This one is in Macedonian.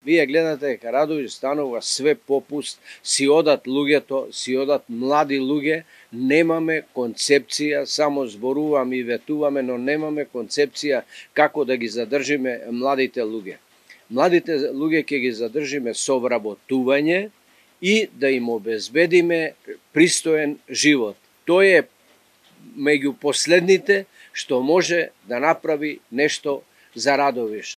Вие гледате дека Радовиш станува све попуст, си одат луѓето, си одат млади луѓе, немаме концепција, само зборуваме и ветуваме, но немаме концепција како да ги задржиме младите луѓе. Младите луѓе ќе ги задржиме со вработување и да им обезбедиме пристоен живот. Тој е меѓу последните што може да направи нешто за Радовиш.